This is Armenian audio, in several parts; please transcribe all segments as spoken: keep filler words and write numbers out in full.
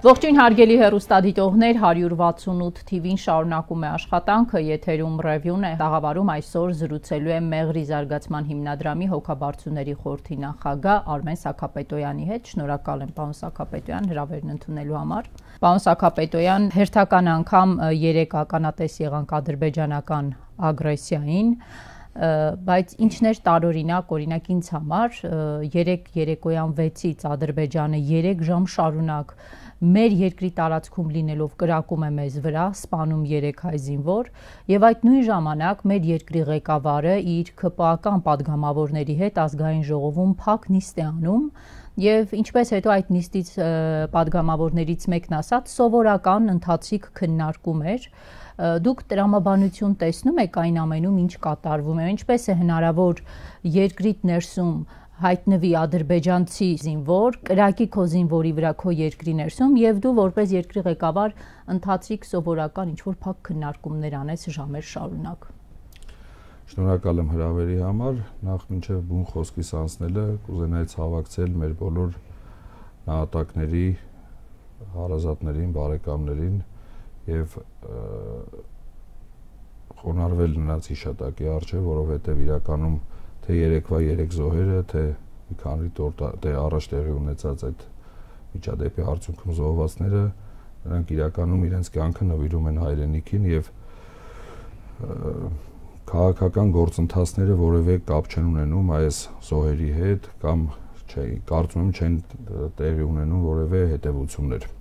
Ողջույն հարգելի հեռուստադիտողներ, հարյուր վաթսունութ թիվին շարունակում է աշխատանքը, եթերում ռևյուն է, տաղավարում այսօր զրուցելու է Մեղրի զարգացման հիմնադրամի հոգաբարձուների խորհրդի նախագահ Արմեն Սաքապետոյանի հետ։ Շնորհակալ եմ պարոն Սաքապետոյան հրավերն ընդունելու համար։ Պարոն Սաքապետոյան, հերթական անգամ երեք ականատես եղանք ադրբեջանական ագրեսիային, բայց ինչն էր տարօրինակ, օրինակ ինձ համար, երեք երեկոյան վեցից Ադրբեջանը երեք ժամ շարունակ մեր երկրի տարածքում լինելով կրակում է մեզ վրա, սպանում երեք հայ զինվոր, եւ այդ նույն ժամանակ մեր երկրի ղեկավարը իր ՔՊԱ-կան падգամավորների հետ ազգային ժողովում փակ նիստ է անում, եւ ինչպես հետո այդ նիստից падգամավորներից մեկն ասաց, սովորական ընթացիկ քննարկում էր։ Դուք տրամաբանություն տեսնում եք այն ամենում, ինչ կատարվում է, ինչպես է հնարավոր երկրիդ ներսում հայտնվի ադրբեջանցի զինվոր, կրակի քո զինվորի վրա քո երկրի ներսում եւ դու որպես երկրի ղեկավար ընթացիկ սովորական ինչ-որ փակ քննարկումներ անես ժամեր շարունակ։ Շնորհակալ եմ հրավերի համար, նախ մինչև բուն խոսքիս անցնելը կուզենայի ցավակցել մեր բոլոր նահատակների, հարազատներին, բարեկամներին եւ խոնարհվել նրանց հիշատակի առջև, որովհետեւ իրականում թե երեկվա երեք զոհերը, թե մի քանի օր առաջ տեղի ունեցած այդ միջադեպի արդյունքում զոհվածները, նրանք իրականում իրենց կյանքը նվիրում են հայրենիքին եւ քաղաքական գործընթացները որևէ կապ չեն ունենում այս զոհերի հետ կամ չէ, կարծում եմ չեն տեղի ունենում որևէ հետևություններ։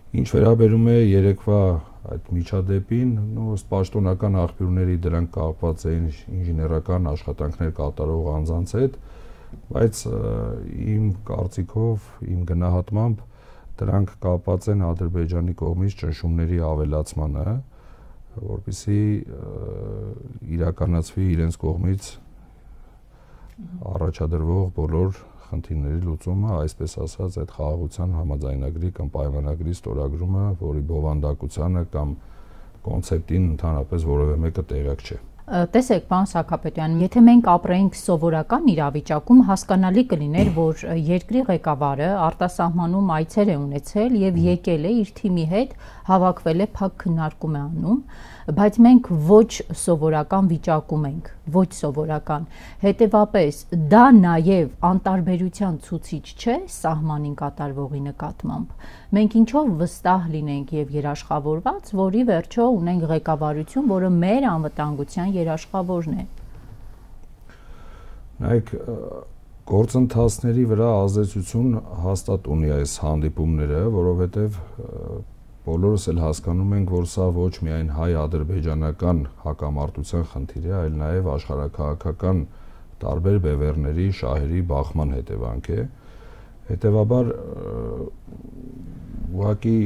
Ինչ վերաբերում է երեկվա այդ միջադեպին, նո ըստ պաշտոնական աղբյուրների դրանք կապված էին ինժեներական աշխատանքներ կատարող անձանց հետ, բայց իմ կարծիքով, իմ գնահատմամբ դրանք կապված են Ադրբեջանի կողմից ճնշումների ավելացմանը, որպեսզի իրականացվի իրենց կողմից առաջադրվող բոլոր խնդիրների լուծումը, այսպես ասած, այդ խաղաղության համաձայնագրի կամ պայմանագրի ստորագրումը, որի բովանդակությանը կամ կոնցեպտին ընդհանրապես որևէ մեկը տեղյակ չէ։ Տեսեք, պարոն Սաքապետյան, եթե մենք ապրեինք սովորական իրավիճակում, հասկանալի կլիներ, որ երկրի ղեկավարը արտասահմանում այցեր է ունեցել եւ եկել է իր թիմի հետ, հավաքվել է, փակ քննարկում է անում, բայց մենք ոչ սովորական վիճակում ենք, ոչ սովորական։ Հետևաբար դա նաև անտարբերության ցուցիչ չէ սահմանին կատարվողի նկատմամբ։ Մենք ինչով վստահ լինենք եւ երաշխավորված, որի վերջո ունենք ղեկավարություն, որը մեր անվտանգության երաշխավորն է։ Նայեք, գործընթացների վրա ազդեցություն հաստատ ունի այս հանդիպումները, որովհետեւ բոլորս էլ հասկանում ենք, որ սա ոչ միայն հայ-ադրբեջանական հակամարտության խնդիր է, այլ նաև աշխարհաքաղաքական տարբեր բևեռների, շահերի բախման հետևանք է։ Հետևաբար ուղղակի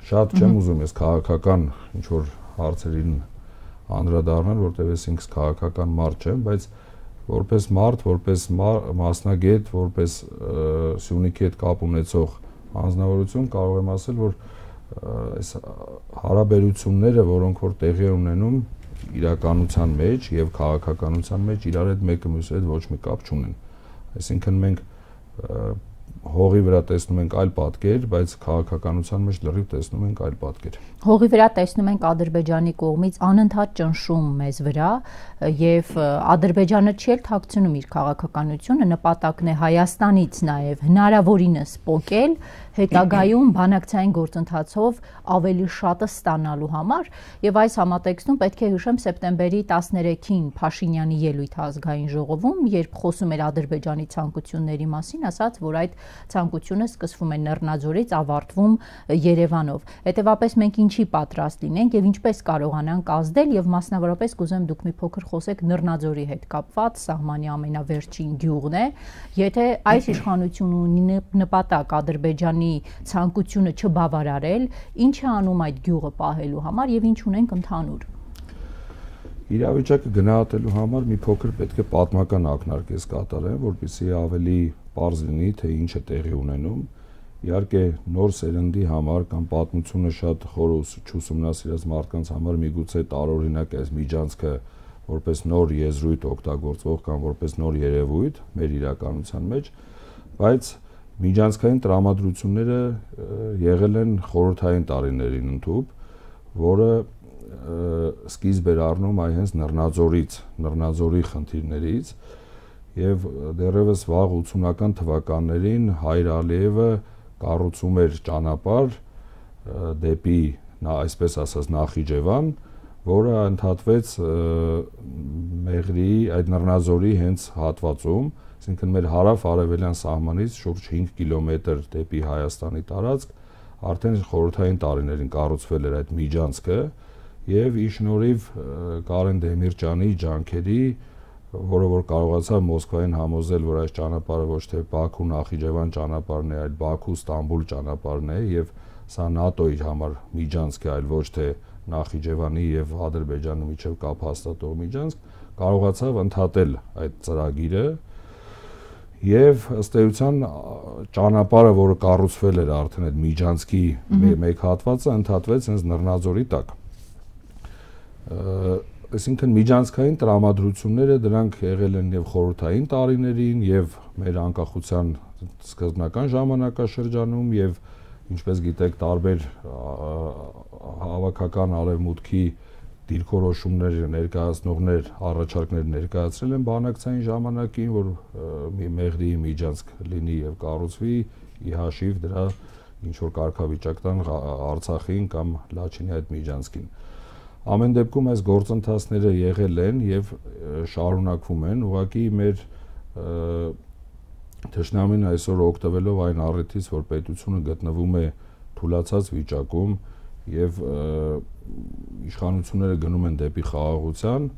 շատ չեմ ուզում ես քաղաքական ինչ-որ հարցերին անդրադառնալ, որտեղ ես ինքս քաղաքական մարդ չեմ, բայց որպես մարդ, որպես մասնագետ, որպես Սյունիքի հետ կապ ունեցող անձնավորություն կարող եմ ասել, որ այս հարաբերությունները, որոնք որ տեղի են ունենում իրականության մեջ եւ քաղաքականության մեջ, իրար հետ մեկը մյուսի հետ ոչ մի կապ չունեն։ Այսինքն մենք հողի վրա տեսնում ենք այլ պատկեր, բայց քաղաքականության մեջ լրիվ տեսնում ենք այլ պատկեր։ Հողի վրա տեսնում ենք Ադրբեջանի կողմից անընդհատ ճնշում մեզ վրա եւ Ադրբեջանը չի էլ թաքցնում իր քաղաքականությունը, նպատակն է Հայաստանից նաեւ հնարավորինս պոկել, հետագայում բանակցային գործընթացով ավելի շատը ստանալու համար եւ այս համատեքստում պետք է հիշեմ սեպտեմբերի տասներեքին Փաշինյանի ելույթը ազգային ժողովում, երբ խոսում էր Ադրբեջանի ցանկությունների մասին, ասաց, որ այդ ցանկությունը սկսվում է Լեռնաձորից, ավարտվում Երևանով։ Հետևաբար մենք ինչի պատրաստ լինենք եւ ինչպես կարողանանք ազդել եւ մասնավորապես կուզեմ դուք մի փոքր խոսեք Լեռնաձորի հետ կապված, սահմանի ամենավերջին գյուղն է, եթե այս իշխանությունը ունի նպատակ Ադրբեջանի ցանկությունը չբավարարել, ինչ է անում այդ գյուղը պահելու համար եւ ինչ ունենք ընդհանուր։ Իրավիճակը գնահատելու համար մի փոքր պետք է պատմական ակնարկ կատարեմ, որպեսզի ավելի պարզ լինի, թե ինչ է տեղի ունենում։ Իհարկե նոր սերնդի համար կամ պատմությունը շատ խոր չուսումնասիրած մարդկանց համար միգուցե տարօրինակ է այս միջանցքը որպես նոր եզրույթ օգտագործվող կամ որպես նոր երևույթ մեր իրականության մեջ, բայց Միջանցքային տրամադրությունները եղել են խորհրդային տարիներին ընդհուպ, որը սկիզբ էր առնում այ հենց Նռնաձորից, Նռնաձորի խնդիրներից, եւ դեռևս վաղ ութսունական թվականներին Հայր Ալիևը կառուցում էր ճանապարհ դեպի, այսպես ասած, Նախիջևան, որը ընդհատվեց Մեղրիի այդ Նռնաձորի հենց հատվածում, այսինքն մեր հարավ-արևելյան սահմանից շուրջ հինգ կիլոմետր դեպի Հայաստանի տարածք, արդեն խորհրդային տարիներին կառուցվել էր այդ միջանցքը եւ ի շնորհիվ Կարեն Դեմիրճյանի ջանքերի, որը որ կարողացավ Մոսկվային համոզել, որ այս ճանապարհը ոչ թե Բաքու-Նախիջևան ճանապարհն է, այլ Բաքու-Ստամբուլ ճանապարհն է եւ սա ՆԱՏՕ-ի համար միջանցք է, այլ ոչ թե Նախիջևանի եւ Ադրբեջանի միջև կապ հաստատող միջանցք, կարողացավ ընդհատել այդ ծրագիրը եւ ըստ էության ճանապարհը, որը կառուցվել էր արդեն այդ միջանցքի մեկ հատվածը, ընդհատվեց հենց Նռնաձորի տակ։ Այսինքն միջանցքային տրամադրությունները դրանք եղել են եւ խորհրդային տարիներին եւ մեր անկախության սկզբնական ժամանակաշրջանում եւ ինչպես գիտեք տարբեր հավաքական արևմուտքի դիրքորոշումներ ներկայացնողներ առաջարկներ ներկայացրել են բանակցային ժամանակին, որ Մեղրիի միջանցք լինի եւ կառուցվի ի հաշիվ դրա ինչ որ կարգավիճակ տան Արցախին կամ Լաչինի այդ միջանցքին։ Ամեն դեպքում այս գործընթացները եղել են եւ շարունակվում են, ուղղակի մեր թշնամին այսօր օգտվելով այն առիթից, որ պետությունը գտնվում է թուլացած վիճակում եւ իշխանությունները գնում են դեպի խաղաղության,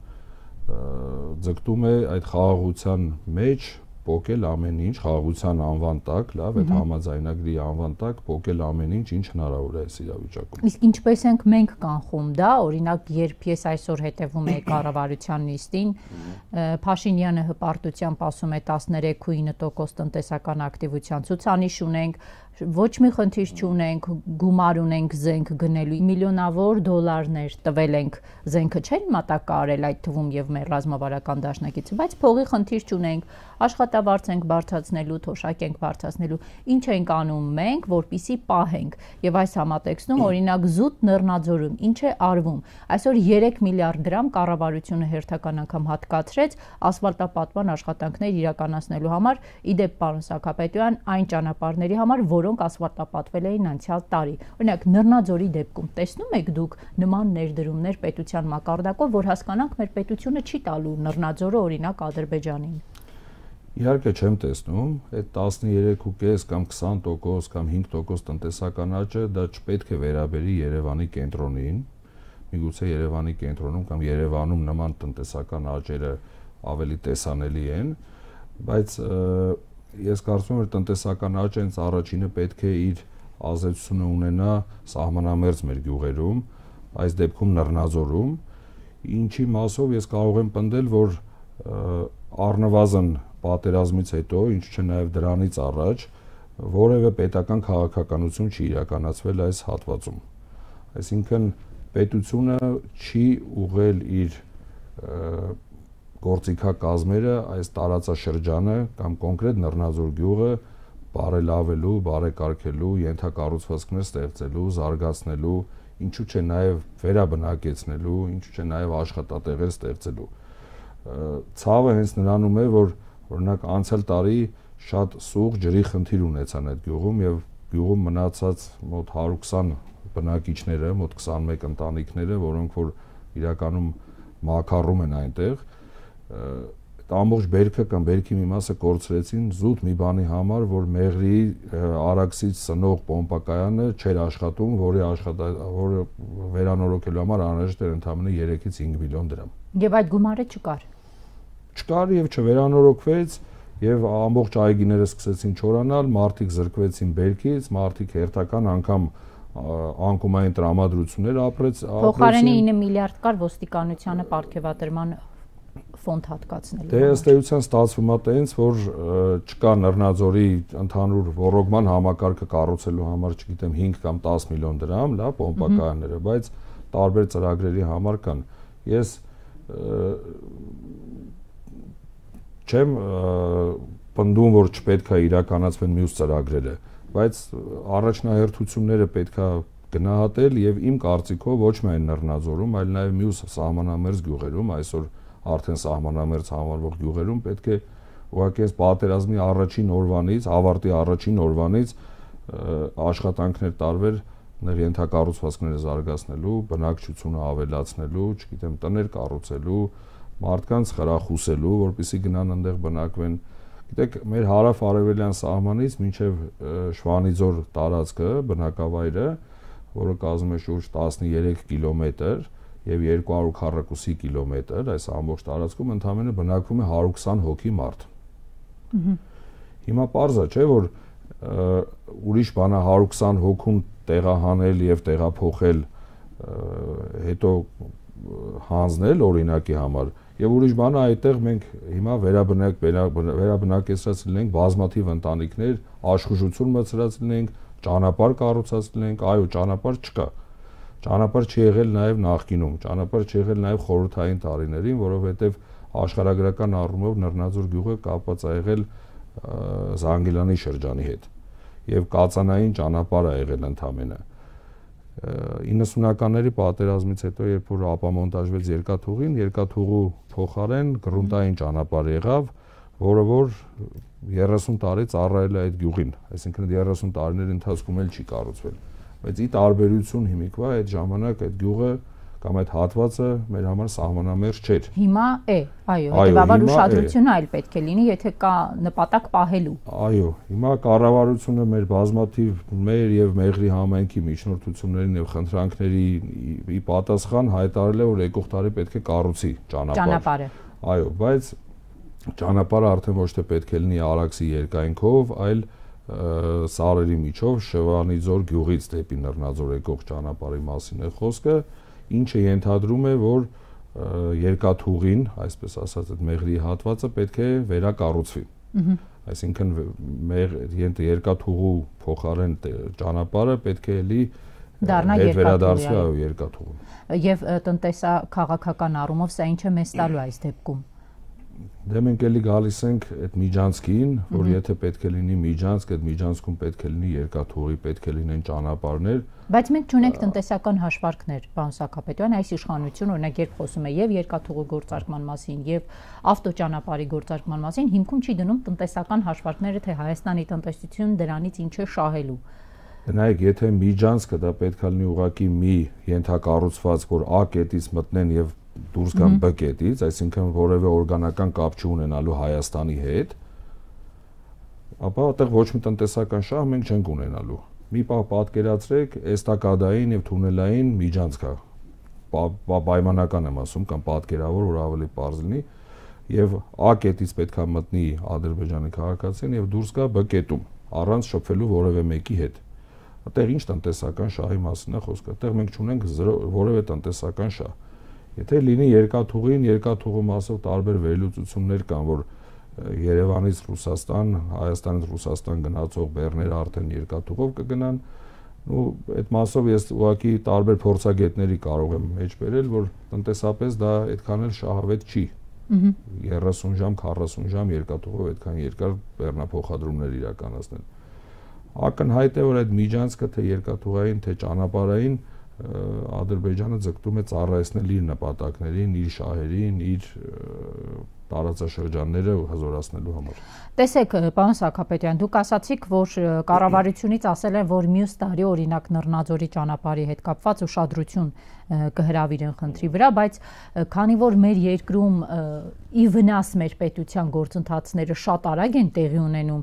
ձգտում է այդ խաղաղության մեջ փոկել ամեն ինչ, խաղաղության անվան տակ, լավ, այդ համաձայնագրի անվան տակ փոկել ամեն ինչ, ինչ հնարավոր է այս իրավիճակում։ Իսկ ինչպես ենք մենք կանխում դա, օրինակ, երբ ես այսօր հետևում եի կառավարության նիստին, Փաշինյանը հպարտությամբ ասում է տասներեք ու ինը տոկոս տնտեսական ակտիվության ցուցանիշ ունենք, ոչ մի խնդիր չունենք, գումար ունենք զենք գնելու, միլիոնավոր դոլարներ տվել ենք, զենքը չէին մատակարարել այդ թվում եւ մեր ռազմավարական դաշնակիցը, բայց փողի խնդիր չունենք, աշխատավարձ ենք բարձրացնելու, թոշակ ենք բարձրացնելու, ինչ ենք անում մենք, որպիսի պահենք։ Եվ այս համատեքստում օրինակ զուտ Նռնաձորում ինչ է արվում։ Այսօր երեք միլիարդ դրամ կառավարությունը հերթական անգամ հատկացրեց ասֆալտապատման աշխատանքներ իրականացնելու համար, իդեպ պարոն Սաքապետյան, այն ճանապարհների համար, որոնք ասֆալտապատվել էին անցյալ տարի։ Օրինակ Նռնաձորի դեպքում տեսնում եք դուք նման ներդրումներ պետության մակարդակով, որ հասկանանք մեր պետությունը չի տալու Նռնաձորը օրինակ Ադրբեջանին։ Իհարկե չեմ տեսնում, այդ տասներեք ու կես կամ քսան տոկոս կամ հինգ տոկոս տնտեսական աճը դա չպետք է վերաբերի Երևանի կենտրոնին, միգուցե Երևանի կենտրոնում կամ Երևանում նման տնտեսական աճերը ավելի տեսանելի են, բայց ես կարծում եմ, որ տնտեսական աճը հենց առաջինը պետք է իր ազդեցությունը ունենա սահմանամերձ մեր գյուղերում, այս դեպքում Նռնաձորում, ինչի մասով ես կարող եմ պնդել, որ առնվազն պատերազմից հետո, ինչ չէ նաև դրանից առաջ, որևէ պետական քաղաքականություն չի իրականացվել այս հատվածում։ Այսինքն պետությունը չի ուղղել իր գործիքակազմերը այս տարածաշրջանը կամ կոնկրետ Նռնաձոր գյուղը բարելավելու, բարեկարգելու, ենթակառուցվածքներ ստեղծելու, զարգացնելու, ինչու չէ նաև վերաբնակեցնելու, ինչու չէ նաև աշխատատեղեր ստեղծելու։ Ցավը հենց նրանում է, որ օրինակ անցյալ տարի շատ սուղ ջրի խնդիր ունեցան այդ գյուղում եւ գյուղում մնացած մոտ հարյուր ու քսան բնակիչները, մոտ քսանմեկ ընտանիքները, որոնք որ իրականում մաքարում են այնտեղ, այդ ամբողջ բերքը կամ բերքի մի մասը կորցրեցին զուտ մի բանի համար, որ Մեղրիի Արաքսից սնող պոմպակայանը չէր աշխատում, որի աշխատա, որը վերանորոգելու համար անհրաժեշտ էր ընդամենը երեքից հինգ միլիոն դրամ։ Եվ այդ գումարը չկար։ Չկար եւ չվերանորոգվեց եւ ամբողջ այգիները սկսեցին չորանալ, մարդիկ զրկվեցին բերքից, մարդիկ հերթական անգամ անկումային տրամադրություններ ապրեց, փոխարենի ինը միլիարդ կար ոստիկանությանը պարգևատրման ֆոնդ հատկացնելու։ Դե ըստ էության ստացվում է տենց, որ չկա Նռնաձորի ընդհանուր ռոռոգման համակարգը կառուցելու համար, չգիտեմ, հինգ կամ տաս միլիոն դրամ, լավ, պոմպակայանները, բայց տարբեր ծրագրերի համար կան։ Ես չեմ պնդում, որ չպետք է իրականացվեն մյուս ծրագրերը, բայց առաջնահերթությունները պետք է գնահատել եւ իմ կարծիքով ոչ միայն Նռնաձորում, այլ նաեւ մյուս սահմանամերձ գյուղերում, այսօր արդեն սահմանամերձ համարվող գյուղերում պետք է ուղղակի այս պատերազմի առաջին օրվանից, ավարտի առաջին օրվանից աշխատանքներ տարվեր ներ ենթակառուցվածքները զարգացնելու, բնակչությունը ավելացնելու, չգիտեմ, տներ կառուցելու, մարդկանց խրախուսելու, որպեսզի գնան այնտեղ բնակվեն։ Գիտեք, մեր հարավ-արևելյան սահմանից մինչև Շվանիձոր տարածքը, բնակավայրը, որը կազմում է շուրջ տասներեք կիլոմետր եւ երկու հարյուր քառակուսի կիլոմետր, այս ամբողջ տարածքում ընդամենը բնակվում է հարյուր քսան հոգի մարդ։ Հիմա պարզ է, չէ, որ ուրիշ բանա հարյուր քսան հոգուն տեղահանել եւ տեղափոխել, հետո հանձնել օրինակի համար, եւ ուրիշ բանը այդտեղ մենք հիմա վերաբնակ վերաբնակեցրած լինենք բազմաթիվ ընտանիքներ, աշխուժություն մցրած լինենք, ճանապարհ կառուցած լինենք, այո, ճանապարհ չկա։ Ճանապարհ չի եղել նաեւ նախկինում, ճանապարհ չի եղել նաեւ խորհրդային տարիներին, որովհետեւ աշխարհագրական առումով Նռնաձոր գյուղը կապված է եղել Զանգիլանի շրջանի հետ եւ կածանային ճանապարհ է եղել ընդամենը։ իննսունականների պատերազմից հետո, երբ որ ապամոնտաժվեց երկաթուղին, երկաթուղու փոխարեն գրունտային ճանապարհ եղավ, որը որ երեսուն տարի ծառայել է այդ գյուղին, այսինքն երեսուն տարիների ընթացքում էլ չի կառուցվել։ Բայց ի տարբերություն հիմիկվա այդ ժամանակ այդ գյուղը կամ այդ հատվածը մեր համար սահմանամերձ չէր։ Հիմա է, այո, հետեւաբար ուշադրությունը այլ պետք է լինի, եթե կա նպատակ պահելու։ Այո, հիմա կառավարությունը մեր բազմաթիվ մեր եւ Մեղրի համայնքի միջնորդություններին եւ խնդրանքների ի պատասխան հայտարարել է, որ եկող տարի պետք է կառուցի ճանապարհ։ Ճանապարհը։ Այո, բայց ճանապարհը արդեն ոչ թե պետք է լինի Արաքսի երկայնքով, այլ սարերի միջով Շվանիձոր գյուղից դեպի Նռնաձոր եկող ճանապարհի մասին է խոսքը, ինչը ենթադրում է, որ երկաթուղին, այսպես ասած, այդ Մեղրի հատվածը պետք է վերակառուցվի։ Այսինքն երկաթուղու փոխարեն ճանապարհը պետք է էլի վերադարձվի այո երկաթուղուն։ Եվ տնտեսա-քաղաքական առումով սա ինչ է մեզ տալու այս դեպքում։ Դե մենք էլի գալիս ենք այդ միջանցքին, որ եթե պետք է լինի միջանցք, այդ միջանցքում պետք է լինի երկաթուղի, պետք է լինեն ճանապարհներ։ Բայց մենք չունենք տնտեսական հաշվարկներ, պարոն Սաքապետյան, այս իշխանությունը օրինակ երբ խոսում է եւ երկաթուղու գործարկման մասին, եւ ավտոճանապարհի գործարկման մասին, հիմքում չի դնում տնտեսական հաշվարկները, թե Հայաստանի տնտեսությունն դրանից ինչ է շահելու։ Նայեք, եթե միջանցքը դա պետք է լինի ուղղակի մի ենթակառուցվածք, որ A կետից մտնեն եւ դուրս գան B կետից, այսինքն որևէ օրգանական կապ չունենալու Հայաստանի հետ, ապա այդտեղ ոչ մի տնտեսական շահ մենք չենք ունենալու։ Մի պահ պատկերացրեք էստակադային եւ թունելային միջանցք է, պայմանական եմ ասում, կամ պատկերավոր, որ ավելի պարզ լինի, եւ A կետից պետք է մտնի Ադրբեջանի քաղաքացին եւ դուրս գա B կետում, առանց շփվելու որևէ մեկի հետ։ Այդտեղ ինչ տնտեսական շահի մասին է խոսքը, այդտեղ մենք չունենք որևէ տնտեսական շահ։ Եթե լինի երկաթուղին, երկաթուղու մասով տարբեր վերլուծություններ կան, որ Երևանից Ռուսաստան, Հայաստանից Ռուսաստան գնացող բեռները արդեն երկաթուղով կգնան, ու այդ մասով ես ուղղակի տարբեր փորձագետների կարող եմ մեջ բերել, որ տնտեսապես դա այդքան էլ շահավետ չի։ երեսուն ժամ, քառասուն ժամ երկաթուղով այդքան երկար բեռնափոխադրումներ իրականացնել։ Ակնհայտ է, որ այդ միջանցքը թե երկաթուղային, թե ճանապարհային Ադրբեջանը ձգտում է ծառայեցնել իր նպատակներին, իր շահերին, իր տարածաշրջանները հզորացնելու համար։ Տեսեք, պարոն Սաքապետյան, դուք ասացիք, որ կառավարությունից ասել են, որ մյուս տարի օրինակ Նռնաձորի ճանապարհի հետ կապված ուշադրություն կհրավիրեն խնդրի վրա, բայց քանի որ մեր երկրում ի վնաս մեր պետության գործընթացները շատ արագ են տեղի ունենում,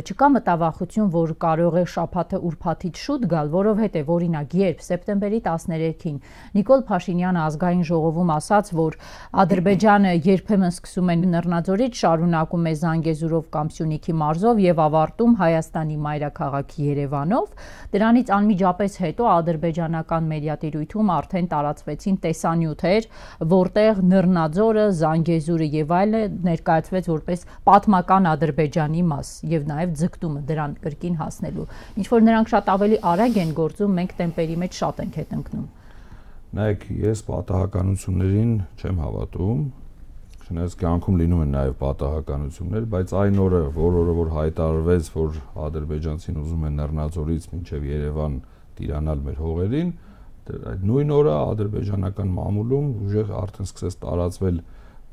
չկա մտավախություն, որ կարող է շաբաթը ուրբաթից շուտ գալ, որովհետև օրինակ երբ սեպտեմբերի տասներեքին Նիկոլ Փաշինյանը ազգային ժողովում ասաց, որ Ադրբեջանը երբեմն սկսում է Նռնաձորից, շարունակում է Զանգեզուրով կամ Սյունիքի մարզով եւ ավարտում Հայաստանի մայրաքաղաք Երևանով, դրանից անմիջապես հետո ադրբեջանական մեդիատիրույթում արդեն տարածվեցին տեսանյութեր, որտեղ Նռնաձորը, Զանգեզուրը եւ այլը ներկայացվեց որպես պատմական Ադրբեջանի մաս եւ նաեւ ձգտումը դրան կրկին հասնելու։ Ինչ որ նրանք շատ ավելի արագ են գործում, մենք տեմպերի մեջ շատ ենք հետ ընկնում։ Նայեք, ես պատահականություններին չեմ հավատում, չնայած կյանքում լինում են նաև պատահականություններ, բայց այն օրը, որ օրը որ հայտարարվեց, որ ադրբեջանցին ուզում են Լեռնաձորից մինչև Երևան տիրանալ մեր հողերին, այդ նույն օրը ադրբեջանական մամուլում ուժեղ արդեն սկսեց տարածվել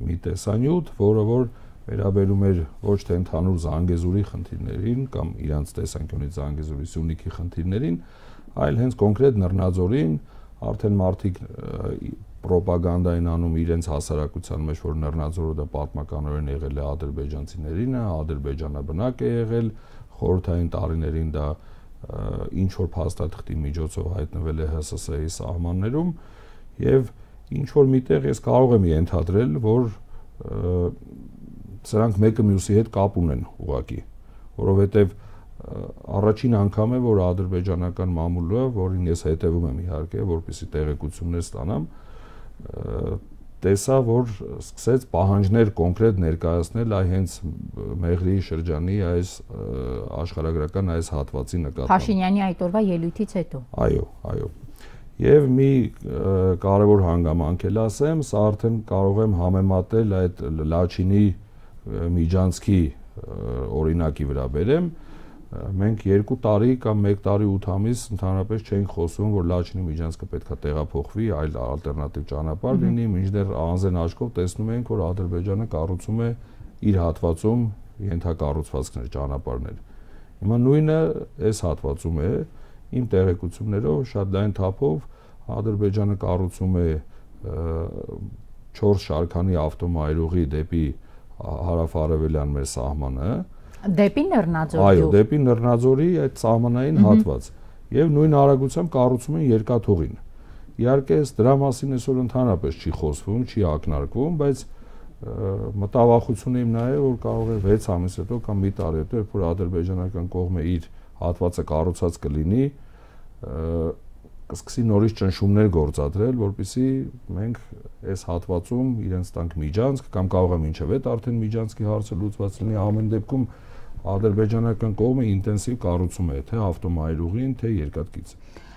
մի տեսանյութ, որը որ վերաբերում էր ոչ թե ընդհանուր Զանգեզուրի խնդիրներին կամ իրանց տեսանկյունից Զանգեզուրի Սյունիքի խնդիրներին, այլ հենց կոնկրետ Լեռնաձորին արդեն մարդիկ պրոպագանդային անում իրենց հասարակության մեջ, որ Լեռնաձորը դա պատմականորեն եղել է ադրբեջանցիներին, ադրբեջանաբնակ է եղել, խորհրդային տարիներին դա ինչ որ փաստաթղթի միջոցով հայտնվել է Հ Ս Ս Ի սահմաններում եւ ինչ որ միտեղ ես կարող եմ ենթադրել, որ սրանք մեկը մյուսի հետ կապ ունեն ուղղակի, որովհետեւ առաջին անգամ է, որ ադրբեջանական մամուլը, որին ես հետևում եմ իհարկե, որպեսզի տեղեկություններ ստանամ, տեսա, որ սկսեց պահանջներ կոնկրետ ներկայացնել այ հենց Մեղրիի շրջանի այս աշխարհագրական այս հատվածի նկատմամբ։ Փաշինյանի այդ օրվա ելույթից հետո։ Այո, այո։ Եվ մի կարևոր հանգամանք էլ ասեմ, սա արդեն կարող եմ համեմատել այդ Լաչինի Միջանցքի օրինակի վրա բերեմ։ Մենք երկու տարի կամ մեկ տարի ութ ամիս ընդհանրապես չենք խոսում, որ Լաչինի Միջանցքը պետքա տեղափոխվի, այլ ալտերնատիվ ճանապարհ լինի, մինչդեռ անզեն աչքով տեսնում ենք, որ Ադրբեջանը կառուցում է իր հատվածում ենթակառուցվածքներ, ճանապարհներ։ Հիմա նույնը այս հատվածում է, իմ տեղեկություններով շատ լայն թափով Ադրբեջանը կառուցում է չորս շարքանի ավտոմայրուղի դեպի հարավ-արևելյան մեր սահմանը։ Դեպի Լեռնաձոր։ Այո, դեպի Լեռնաձորի այդ սահմանային հատված։ Եվ նույն արագությամբ կառուցում են երկաթուղին։ Իհարկե, դրա մասին այսօր ընդհանրապես չի խոսվում, չի ակնարկվում, բայց մտավախությունը իմ նա է, որ կարող է վեց ամիս հետո կամ մի տարի հետո, երբ որ ադրբեջանական կողմը իր հատվածը կառուցած կլինի, կսկսի նորից ճնշումներ գործադրել, որպեսզի մենք այս հատվածում իրենց տանք միջանցք կամ կարող է մինչև այդ արդեն միջանցքի հարցը լուծված լինի, ամեն դեպքում ադրբեջանական կողմը ինտենսիվ կառուցում է թե ավտոմայրուղին, թե երկաթգիծը։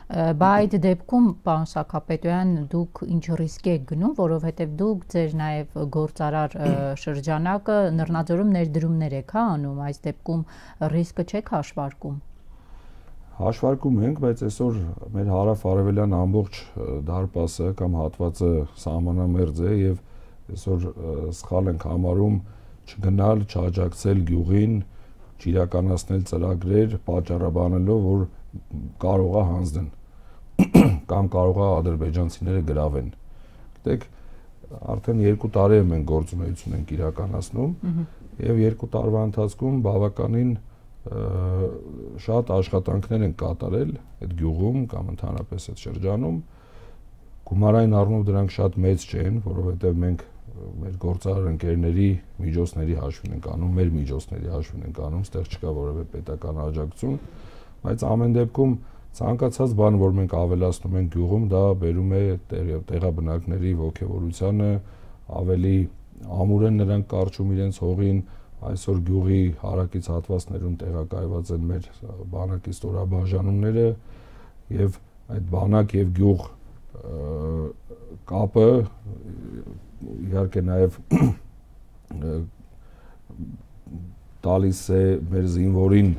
Բա այդ դեպքում, պարոն Սաքապետյան, դուք ինչ ռիսկ եք գնում, որովհետև դուք ձեր նաև գործարար շրջանակը Լեռնաձորում ներդրումներ եք անում, այս դեպքում ռիսկը չեք հաշվարկում։ Հաշվարկում ենք, բայց այսօր մեր հարավ-արևելյան ամբողջ դարպասը կամ հատվածը սահմանամերձ է եւ այսօր սխալ ենք համարում չգնալ, չաջակցել գյուղին, չիրականացնել ծրագրեր, պատճառաբանելով, որ կարող է հանձնեն կամ կարող է ադրբեջանցիները գրավեն։ Գիտեք, արդեն երկու տարի է մենք գործունեություն ենք իրականացնում եւ երկու տարվա ընթացքում բավականին շատ աշխատանքներ են կատարել այդ գյուղում կամ ընդհանրապես այդ շրջանում։ Գումարային առումով դրանք շատ մեծ չեն, որովհետեւ մենք մեր գործարար ընկերների միջոցների հաշվին ենք անում, մեր միջոցների հաշվին ենք անում, ստեղ չկա որևէ պետական աջակցություն, բայց ամեն դեպքում ցանկացած բան, որ մենք ավելացնում ենք գյուղում, դա բերում է տեղաբնակների ոգևորությանը, ավելի ամուր են նրանք կարճում իրենց հողին, այսօր գյուղի հարակից հատվածներում տեղակայված են մեր բանակի ստորաբաժանումները եւ այդ բանակ եւ գյուղ կապը իհարկե նաեւ տալիս է մեր զինվորին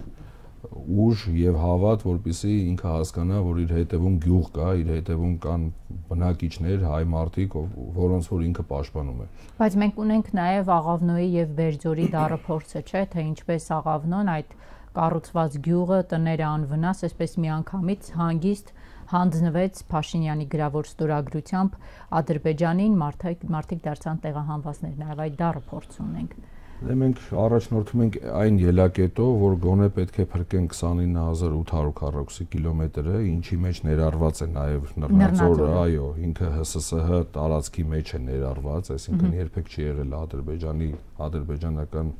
ուժ եւ հավատ, որպեսզի ինքը հասկանա, որ իր հետևում գյուղ կա, իր հետևում կան բնակիչներ, հայ մարդիկ, որոնց որ ինքը պաշտպանում է։ Բայց մենք ունենք նաեւ Աղավնոյի եւ Բերձորի դառը փորձը, չէ՞, թե ինչպես Աղավնոն այդ կառուցված գյուղը տները անվնաս, այսպես միանգամից հանգիստ հանձնվեց Փաշինյանի գրավոր ստորագրությամբ Ադրբեջանին, մարդիկ մարդիկ դարձան տեղահանվածներ, նաեւ այդ դառը փորձ ունենք։ Դե մենք առաջնորդում ենք այն ելակետով, որ գոնե պետք է փրկենք քսանինը հազար ութ հարյուր քառակուսի կիլոմետրը, ինչի մեջ ներառված է նաեւ Լեռնաձորը, այո, ինքը Հ Ս Ս Հ տարածքի մեջ է ներառված, այսինքն երբեք չի եղել Ադրբեջանի ադրբեջանական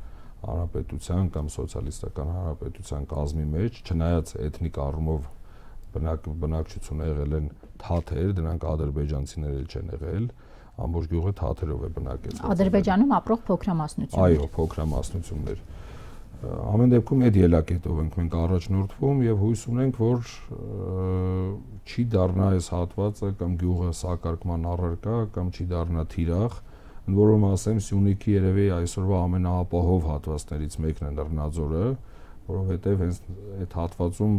հանրապետության կամ սոցիալիստական հանրապետության կազմի մեջ, չնայած էթնիկ առումով բնակ բնակչությունը եղել են թաթեր, դրանք ադրբեջանցիներ էլ չեն եղել, ամբողջ գյուղը թաթերով է բնակեցված։ Ադրբեջանում ապրող փոքրամասնություններ։ Այո, փոքրամասնություններ։ Ամեն դեպքում այդ ելակետով ենք մենք առաջնորդվում եւ հույս ունենք, որ չի դառնա այս հատվածը կամ գյուղը սակարկման առարկա կամ չի դառնա թիրախ, Ընդ որում ասեմ, Սյունիքի երևի այսօրվա ամենաապահով հատվածներից մեկն է Լեռնաձորը, որովհետև հենց այդ հատվածում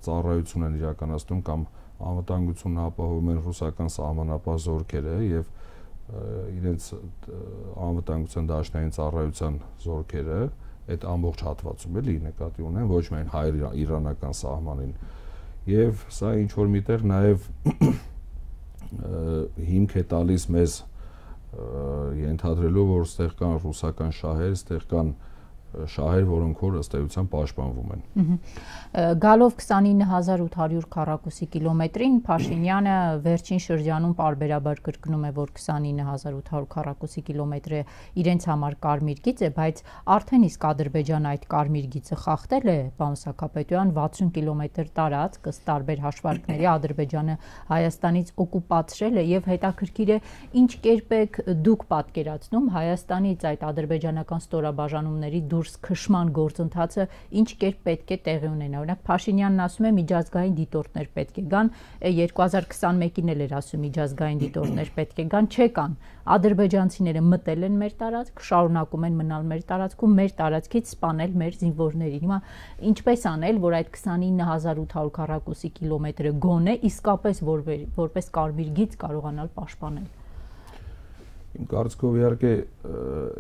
ծառայություն են իրականացնում կամ անվտանգությունն ապահովում են ռուսական սահմանապահ զորքերը եւ իրենց անվտանգության դաշնային ծառայության զորքերը այդ ամբողջ հատվածում էլի նկատի ունեն, ոչ միայն հայ-իրանական սահմանին։ Եվ սա ինչ որ միտեղ նաեւ հիմք է տալիս մեզ ենթադրելով, որ ստեղ կան ռուսական շահեր, ստեղ կան շահեր, որոնք որ ըստ էության պաշտպանվում են։ Գալով քսանինը հազար ութ հարյուր քառակուսի կիլոմետրին Փաշինյանը վերջին շրջանում պարբերաբար կրկնում է, որ քսանինը հազար ութ հարյուր քառակուսի կիլոմետրը իրենց համար կարմիր գիծ է, բայց արդեն իսկ Ադրբեջանը այդ կարմիր գիծը խախտել է, պարոն Սաքապետյան, վաթսուն կիլոմետր տարածք ըստ տարբեր հաշվարկների Ադրբեջանը Հայաստանից օկուպացրել է եւ հետաքրքիր է ինչ կերպ եք դուք պատկերացնում Հայաստանից այդ ադրբեջանական ստորաբաժանումների դուրս քշման գործընթացը ինչ կերպ պետք է տեղի ունենա։ Օրինակ Փաշինյանն ասում է միջազգային դիտորդներ պետք է գան, երկու հազար քսանմեկին էլ էր ասում միջազգային դիտորդներ պետք է գան, չեկան։ Ադրբեջանցիները մտել են մեր տարածք, շարունակում են մնալ մեր տարածքում, մեր տարածքից սպանել մեր զինվորներին։ Հիմա ինչպես անել, որ այդ քսանինը հազար ութ հարյուր քառակուսի կիլոմետրը գոնե իսկապես որպես կարմիր գիծ կարողանալ պաշտպանել։ Իմ կարծիքով իհարկե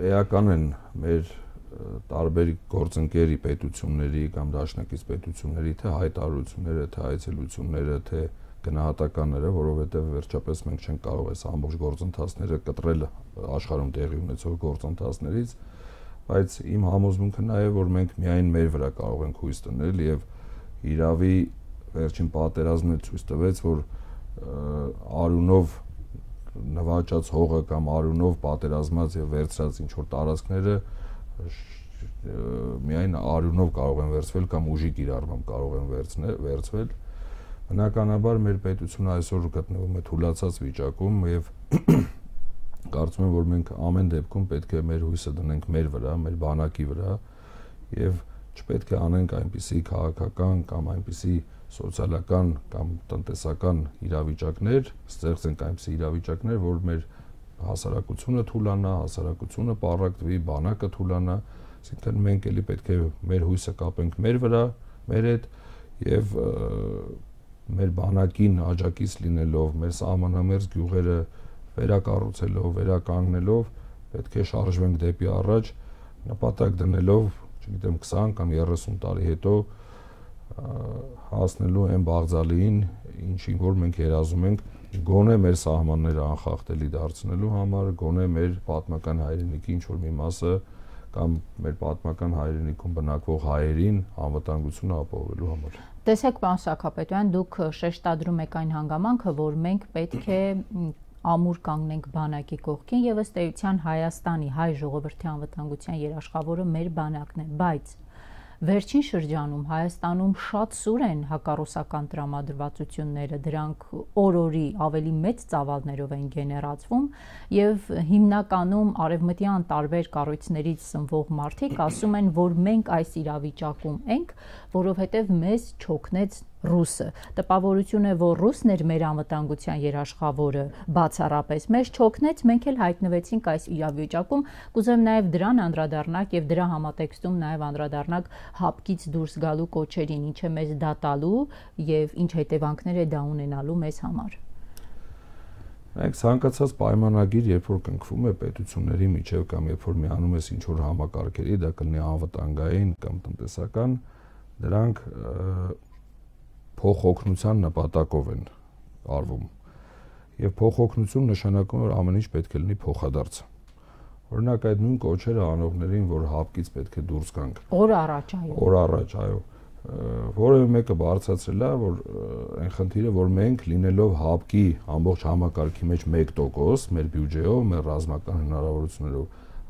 էական են մեր տարբեր գործընկերի պետությունների կամ դաշնակից պետությունների թե հայտարարությունները, թե այցելությունները, թե գնահատականները, որովհետև վերջապես մենք չենք կարող այս ամբողջ գործընթացները կտրել աշխարհում տեղի ունեցող գործընթացներից, բայց իմ համոզմունքը նա է, որ մենք միայն մեր վրա կարող ենք հույս դնել եւ իրավի վերջին պատերազմը ցույց տվեց, որ արյունով նվաճած հողը կամ արյունով պատերազմած եւ վերցրած ինչ որ տարածքները միայն արյունով կարող են վերցվել կամ ուժի կիրառմամբ կարող են վերցվել։ Բնականաբար մեր պետությունը այսօր գտնվում է թուլացած վիճակում եւ կարծում եմ, որ մենք ամեն դեպքում պետք է մեր հույսը դնենք մեր վրա, մեր բանակի վրա եւ չպետք է անենք այնպիսի քաղաքական կամ այնպիսի սոցիալական կամ տնտեսական իրավիճակներ, ստեղծենք այնպիսի իրավիճակներ, որ մեր հասարակությունը թուլանա, հասարակությունը պառակտվի, բանակը թուլանա, այսինքն մենք էլի պետք է մեր հույսը կապենք մեր վրա, մեր հետ եւ մեր բանակին աջակից լինելով, մեր սահմանամերձ գյուղերը վերակառուցելով, վերականգնելով, պետք է շարժվենք դեպի առաջ, նպատակ դնելով, չգիտեմ, քսան կամ երեսուն տարի հետո հասնելու այն բաղձալիին, ինչին որ մենք երազում ենք գոնե մեր սահմանները անխախտելի դարձնելու համար, գոնե մեր պատմական հայրենիքի ինչ-որ մի մասը կամ մեր պատմական հայրենիքում բնակվող հայերին անվտանգությունը ապահովելու համար։ Տեսեք, պարոն Սաքապետյան, դուք շեշտադրում եք այն հանգամանքը, որ մենք պետք է ամուր կանգնենք բանակի կողքին եւ ըստ էության Հայաստանի հայ ժողովրդի անվտանգության երաշխավորը մեր բանակն է, բայց վերջին շրջանում Հայաստանում շատ սուր են հակառուսական տրամադրվածությունները, դրանք օր-օրի ավելի մեծ ծավալներով են գեներացվում եւ հիմնականում արևմտյան տարբեր կառույցներից սնվող մարդիկ ասում են, որ մենք այս իրավիճակում ենք, որովհետեւ մեզ չօգնեց ռուսը։ Տպավորություն է, որ ռուսն էր մեր անվտանգության երաշխավորը, բացառապես մեզ չօգնեց, մենք էլ հայտնվեցինք այս իրավիճակում։ Կուզեմ նաև դրան անդրադառնալ եւ դրա համատեքստում նաև անդրադառնալ հապկից դուրս գալու կոչերին, ինչ է մեզ դա տալու եւ ինչ հետևանքներ է դա ունենալու մեզ համար։ Այդ ցանկացած պայմանագիր, երբ որ կնքվում է պետությունների միջև կամ երբ որ միանում ես ինչ որ համակարգերի, դա կլինի անվտանգային կամ տնտեսական, դրանք փոխօգնության նպատակով են արվում եւ փոխօգնություն նշանակում է, որ ամեն ինչ պետք է լինի փոխադարձ։ Օրինակ այդ նույն կոչերը անողներին, որ հապկից պետք է դուրս գանք օր առաջ, այո օր առաջ, այո, որևէ մեկը բարձրացրել է, որ այն խնդիրը, որ մենք լինելով հապկի ամբողջ համակարգի մեջ մեկ տոկոս մեր բյուջեով, մեր ռազմական հնարավորություններով,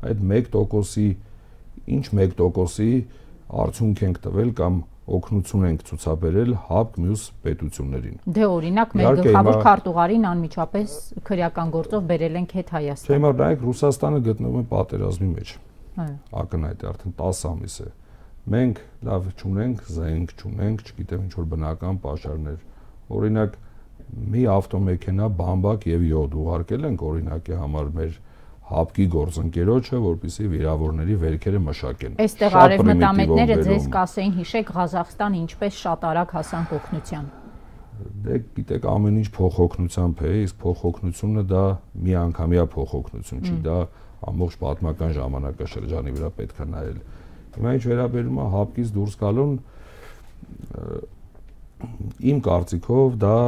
այդ մեկ տոկոսի ինչ մեկ տոկոսի արդյունք ենք տվել կամ օգնություն ենք ցուցաբերել հապկ մյուս պետություններին։ Դե օրինակ մեր գլխավոր քարտուղարին անմիջապես քրեական գործով բերել ենք հետ Հայաստան։ Չէ, maar նայեք Ռուսաստանը գտնվում է պատերազմի մեջ։ Այո։ Ակնհայտ է, արդեն տասը ամիս է։ Մենք լավ չունենք, զենք չունենք, չգիտեմ ինչ որ բնական պաշարներ։ Օրինակ մի ավտոմեքենա բամբակ եւ յոդ ուղարկել ենք օրինակի համար մեր հապկի գործընկերոջը, որպեսզի վիրավորների վերքերը մշակեն։ Այստեղ արևմտամետները ձեզ կասեին, հիշեք, Ղազախստանը ինչպես շատ արագ հասանք օգնության։ Դե գիտեք, ամեն ինչ փոխօգնությամբ է, իսկ փոխօգնությունը դա միանգամյա փոխօգնություն չի, դա ամբողջ պատմական ժամանակաշրջանի վրա պետք է նայել։ Հիմա ինչ վերաբերում է հապկից դուրս գալուն, իմ կարծիքով դա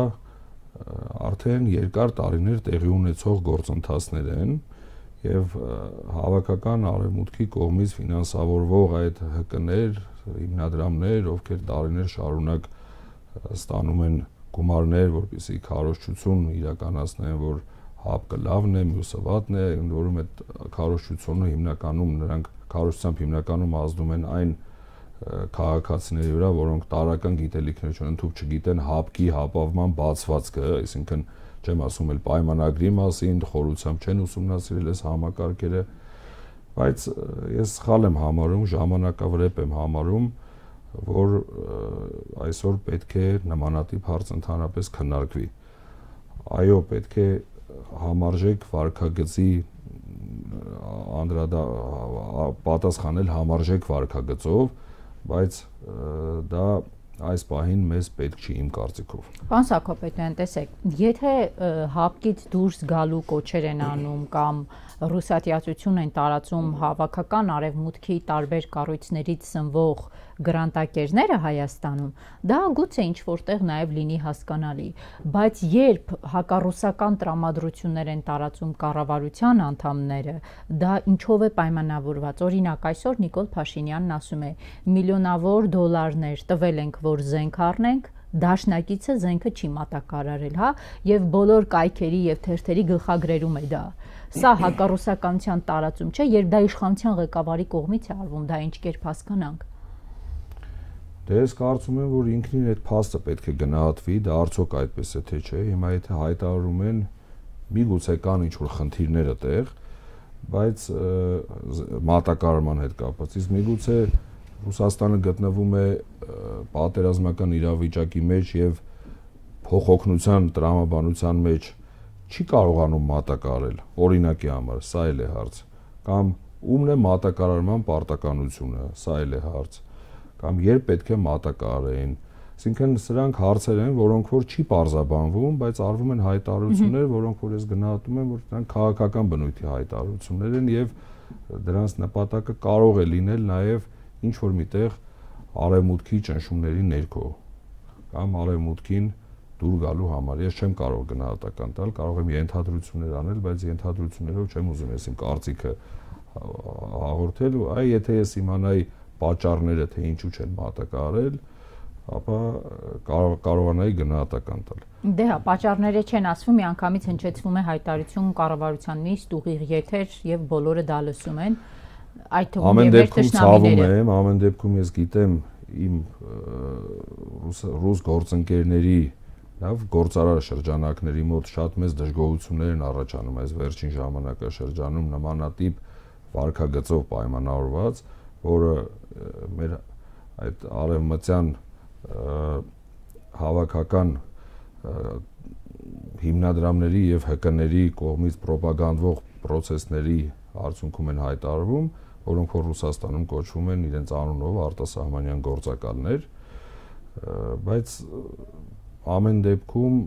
արդեն երկար տարիներ տեղի ունեցող գործընթացներ են եւ հավաքական արևմուտքի կողմից ֆինանսավորվող այդ հկներ, հիմնադրամներ, ովքեր տարիներ շարունակ ստանում են գումարներ, որպեսզի քարոզչություն իրականացնեն, որ հապկը լավն է, մյուսը վատն է, ընդ որում այդ քարոզչությունը հիմնականում նրանք քարոզչությամբ հիմնականում ազդում են այն քաղաքացիների վրա, որոնք տարական գիտելիքներ չունեն, թույլ չգիտեն հապկի հապավման բացվածքը, այսինքն չեմ ասում էլ պայմանագրի մասին, խորությամբ չեն ուսումնասիրել այս համակարգերը, բայց ես սխալ եմ համարում, ժամանակավրեպ եմ համարում, որ այսօր պետք է նմանատիպ հարց ընդհանրապես քննարկվի։ Այո, պետք է համարժեք վարքագծի անդրադա պատասխանել համարժեք վարքագծով, բայց դա այս պահին մեզ պետք չի իմ կարծիքով։ Պարոն Սաքոպետյան, տեսեք, եթե հապկից դուրս գալու կոչեր են անում կամ ռուսատիացություն են տարածում հավաքական արևմուտքի տարբեր կառույցներից սնվող գրանտակերները Հայաստանում, դա գուցե ինչ որտեղ նաև լինի հասկանալի, բայց երբ հակառուսական տրամադրություններ են տարածում կառավարության անդամները, դա ինչով է պայմանավորված։ Օրինակ, այսօր Նիկոլ Փաշինյանն ասում է՝ միլիոնավոր դոլարներ տվել ենք, որ զենք առնենք, դաշնակիցը զենքը չի մատակարարել, հա, եւ բոլոր կայքերի եւ թերթերի գլխագրերում է դա։ Սա հակառուսականության տարածում չէ, երբ դա իշխանության ղեկավարի կողմից է արվում, դա ինչ կերպ հասկանանք։ Դե ես կարծում եմ, որ ինքնին այդ փաստը պետք է գնահատվի, դա արդյոք այդպես է թե չէ։ Հիմա եթե հայտարարում են, միգուցե կան ինչ-որ խնդիրներ այդտեղ, բայց մատակարարման հետ կապված, իսկ միգուցե Ռուսաստանը գտնվում է պատերազմական իրավիճակի մեջ եւ փոխօգնության տրամաբանության մեջ չի կարողանում մատակարարել, օրինակի համար, սա էլ է հարց, կամ ումն է մատակարարման պարտականությունը, սա էլ է հարց, կամ երբ պետք է մատակարարեն, այսինքն սրանք հարցեր են, որոնք որ չի պարզաբանվում, բայց արվում են հայտարարություններ, որոնք որ ես գնահատում եմ, որ դրանք քաղաքական բնույթի հայտարարություններ են եւ դրանց նպատակը կարող է լինել նաեւ ինչ որ միտեղ արևմուտքի ճնշումների ներքո կամ արևմուտքին դուր գալու համար։ Ես չեմ կարող գնահատական տալ, կարող եմ ենթադրություններ անել, բայց ենթադրություններով չեմ ուզում ես իմ կարծիքը հաղորդել, այ եթե ես իմանայի պատճառները, թե ինչու չեն մատակարարել, ապա կարող կարողանայի գնահատական տալ։ Դե հա, պատճառները չեն ասվում, միանգամից հնչեցվում է հայտարարություն կառավարության նիստ, ուղիղ եթեր եւ բոլորը դա լսում են։ Այդ թվում է մեր թշնամիները։ Ամեն դեպքում ես գիտեմ իմ ռուս գործընկերների լավ գործարար շրջանակների մոտ շատ մեծ դժգոհություններ են առաջանում այս վերջին ժամանակաշրջանում նմանատիպ վարքագծով պայմանավորված, որը մեր այդ արևմտյան հավաքական հիմնադրամների եւ հկների կողմից պրոպագանդվող պրոցեսների արդյունքում են հայտարարվում, որոնք որ Ռուսաստանում կոչվում են իրենց անունով արտասահմանյան գործակալներ, բայց ամեն դեպքում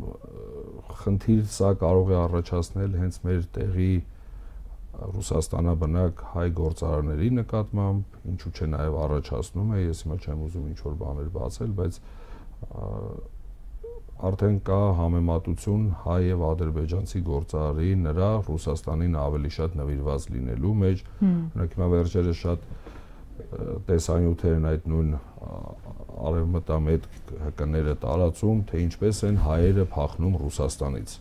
խնդիր սա կարող է առաջացնել հենց մեր տեղի Ռուսաստանաբնակ հայ գործարարների նկատմամբ, ինչու՞ չէ նաև առաջացնում է, ես հիմա չեմ ուզում ինչ-որ բաներ բացել, բայց արդեն կա համեմատություն հայ եւ ադրբեջանցի գործարարի նրա Ռուսաստանին ավելի շատ նվիրված լինելու մեջ, օրինակ հիմա վերջերս շատ տեսանյութեր են այդ նույն արևմտամետ հկները տարածում, թե ինչպես են հայերը փախնում Ռուսաստանից։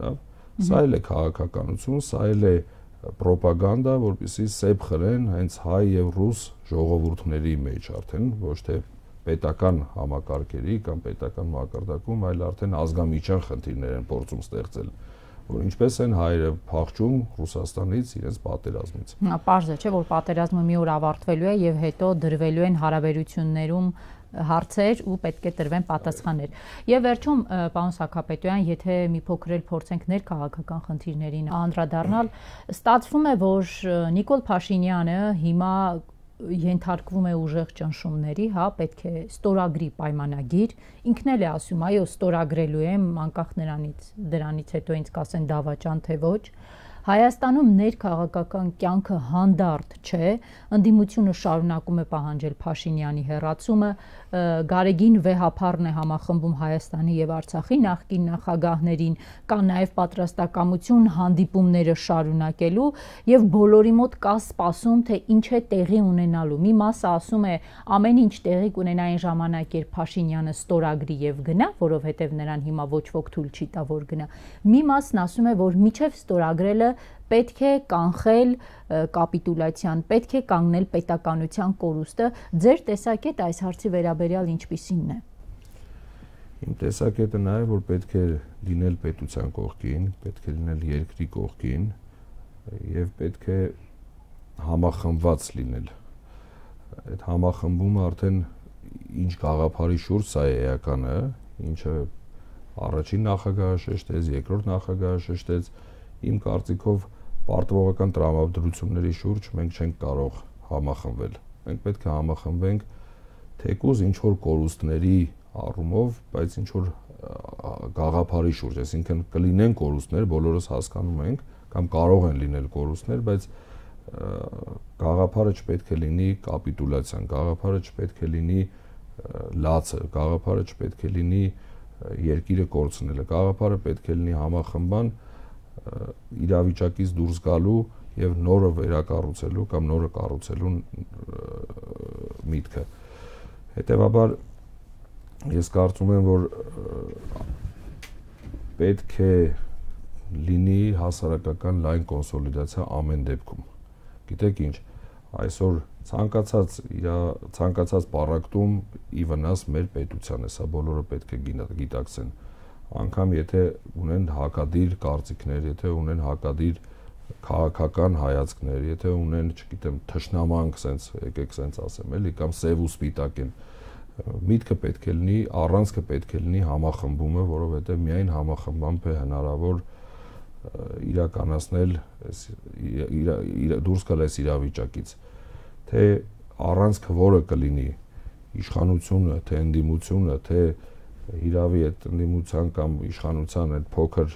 Դա Սա էլ է քաղաքականություն, սա էլ է պրոպագանդա, որպեսզի սեպ խրեն հենց հայ եւ ռուս ժողովուրդների մեջ արդեն, ոչ թե պետական համակարգերի կամ պետական մակարդակում, այլ արդեն ազգամիջյան խնդիրներ են փորձում ստեղծել, որ ինչպես են հայերը փախչում Ռուսաստանից իրենց պատերազմից։ Պարզ է, չէ, որ պատերազմը մի օր ավարտվելու է եւ հետո դրվելու են հարաբերություններում հարցեր ու պետք է տրվեն պատասխաններ։ Եվ վերջում, պարոն Սաքապետյան, եթե մի փոքր էլ փորձենք ներքաղաքական խնդիրներին անդրադառնալ, ստացվում է, որ Նիկոլ Փաշինյանը հիմա ենթարկվում է ուժեղ ճնշումների, հա, պետք է ստորագրի պայմանագիր, ինքն էլ է ասում, այո, ստորագրելու եմ, անկախ նրանից, դրանից հետո ինձ կասեն դավաճան թե ոչ։ Հայաստանում ներքաղաքական կյանքը հանդարտ չէ, ընդդիմությունը շարունակում է պահանջել Փաշինյանի հեռացումը, Գարեգին վեհափառն է համախմբում Հայաստանի եւ Արցախի նախկին նախագահներին, կա նաեւ պատրաստակամություն հանդիպումները շարունակելու եւ բոլորի մոտ կա սպասում, թե ինչ է տեղի ունենալու։ Մի մասը ասում է ամեն ինչ տեղի կունենա այն ժամանակ, երբ Փաշինյանը ստորագրի եւ գնա, որովհետեւ նրան հիմա ոչ ոք թույլ չի տա որ գնա։ Մի մասն ասում է, որ միջև ստորագրելը պետք է կանխել կապիտուլյացիան, պետք է կանգնել պետականության կորուստը։ Ձեր տեսակետը այս հարցի վերաբերյալ ինչպիսինն է։ Իմ տեսակետը նա է, որ պետք է լինել պետության կողքին, պետք է լինել երկրի կողքին եւ պետք է համախմբված լինել։ Այդ համախմբումը արդեն ինչ գաղափարի շուրջ սա է էականը, ինչը առաջին նախագահը շեշտեց, երկրորդ նախագահը շեշտեց, իմ կարծիքով պարտվողական տրամադրությունների շուրջ մենք չենք կարող համախմբվել։ Մենք պետք է համախմբենք թեկուզ ինչ որ կորուստների առումով, բայց ինչ որ գաղափարի շուրջ, այսինքն կլինեն կորուստներ, բոլորս հասկանում ենք, կամ կարող են լինել կորուստներ, բայց գաղափարը չպետք է լինի կապիտուլյացիան, գաղափարը չպետք է լինի լացը, գաղափարը չպետք է լինի երկիրը կորցնելը, գաղափարը պետք է լինի համախմբան իրավիճակից դուրս գալու եւ նորը վերակառուցելու կամ նորը կառուցելու միտքը։ Հետևաբար ես կարծում եմ, որ պետք է լինի հասարակական լայն կոնսոլիդացիա ամեն դեպքում։ Գիտեք ինչ, այսօր ցանկացած ցանկացած պարակտում ի վնաս մեր պետության է, սա բոլորը պետք է գիտակցեն։ Անկամ եթե ունեն հակադիր կարծիքներ, եթե ունեն հակադիր քաղաքական հայացքներ, եթե ունեն, չգիտեմ, թշնամանք, սենց եկեք սենց ասեմ, էլի, կամ սև ու սպիտակ են, միտքը պետք է լինի, առանցքը պետք է լինի համախմբումը, որովհետև միայն համախմբամբ է հնարավոր իրականացնել դուրս գալ այս իրավիճակից, թե առանցքը որը կլինի, իշխանությունը, թե ընդդիմությունը, թե իրավի այդ ընդդիմության կամ իշխանության այդ փոքր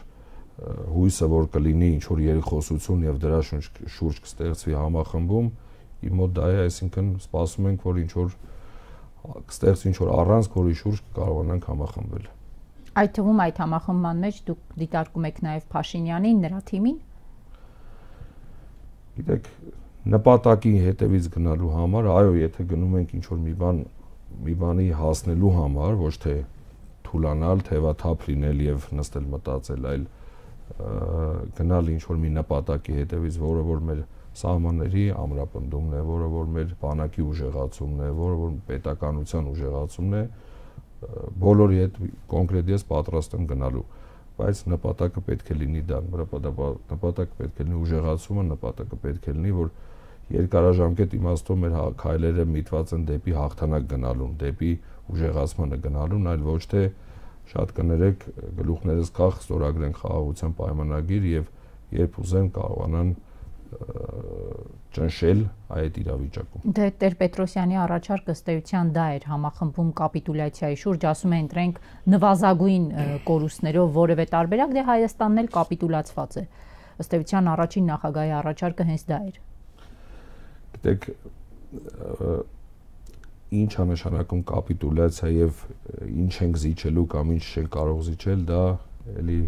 հույսը, որ կլինի ինչ որ երախոսություն եւ դրա շուրջ կստեղծվի համախմբում, իմ մոտ դա է, այսինքն սպասում ենք, որ ինչ որ կստեղծվի ինչ որ առանցք, որի շուրջ կարողանանք համախմբվել։ Այդ թվում այդ համախմբման մեջ դուք դիտարկում եք նաեւ Փաշինյանին, նրա թիմին։ Գիտեք, նպատակի հետևից գնալու համար, այո, եթե գնում ենք ինչ որ մի բան մի բանի հասնելու համար, ոչ թե թուլանալ, թևաթափ լինել եւ նստել մտածել, այլ գնալ ինչ որ մի նպատակի հետևից, որը որ մեր սահմանների ամրապնդումն է, որը որ մեր բանակի ուժեղացումն է, որը որ պետականության ուժեղացումն է, բոլորի հետ կոնկրետ ես պատրաստ եմ գնալու, բայց նպատակը պետք է լինի դա, նպատակը պետք է լինի ուժեղացումը, նպատակը պետք է լինի, որ երկարաժամկետ իմաստով մեր քայլերը միտված են դեպի հաղթանակ գնալուն, դեպի ուժեղացմանը գնալուն, այլ ոչ թե շատ կներեք գլուխներս կախ ստորագրեն խաղաղության պայմանագիր եւ երբ ուզեն կարողանան ճնշել այդ իրավիճակում։ Դե Տեր-Պետրոսյանի առաջարկը ըստ էության դա էր համախմբում կապիտուլյացիայի շուրջ, ասում են ընտրենք նվազագույն կորուստներով որևէ տարբերակ, դե Հայաստանն էլ կապիտուլացված է։ Ըստ էության առաջին նախագահի առաջարկը հենց դա էր։ Գիտեք, ինչ է նշանակում կապիտուլյացիա եւ ինչ ենք զիջելու կամ ինչ չենք կարող զիջել, դա էլի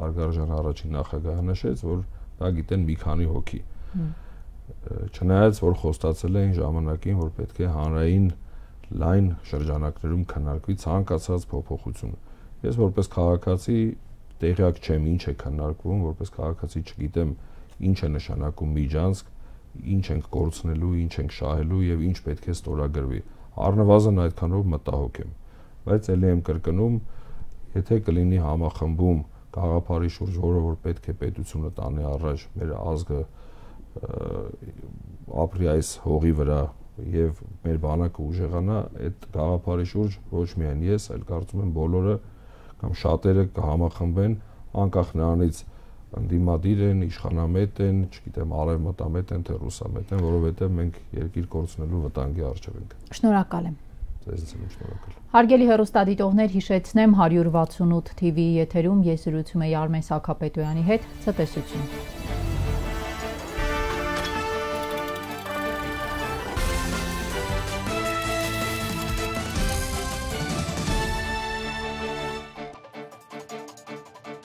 հարգարժան առաջին նախագահը նշեց, որ դա գիտեն մի քանի հոգի։ Չնայած որ խոստացել էին ժամանակին, որ պետք է հանրային լայն շրջանակներում քննարկվի ցանկացած փոփոխություն։ Ես որպես քաղաքացի տեղյակ չեմ ինչ է քննարկվում, որպես քաղաքացի չգիտեմ ինչ է նշանակում միջանցք, ինչ ենք կորցնելու, ինչ ենք շահելու եւ ինչ պետք է ստորագրվի։ Առնվազն այդքանով մտահոգ եմ, բայց ելի եմ կրկնում, եթե կլինի համախմբում գաղափարի շուրջ, որը որ պետք է պետությունը տանի առաջ, մեր ազգը ապրի այս հողի վրա, եւ մեր բանակը ուժեղանա, այդ գաղափարի շուրջ ոչ միայն ես, այլ կարծում եմ բոլորը կամ շատերը կհամախմբեն, անկախ նրանից ընդդիմադիր են, իշխանամետ են, չգիտեմ, արևմտամետ են, թե ռուսամետ են, որովհետեւ մենք երկիր կորցնելու վտանգի առջև ենք։ Շնորհակալ եմ։ Ձեզ եմ շնորհակալ։ Հարգելի հեռուստադիտողներ, հիշեցնեմ հարյուր վաթսունութ թիվի եթերում ես զրուցում եի Արմեն Սաքապետոյանի հետ, ցտեսություն։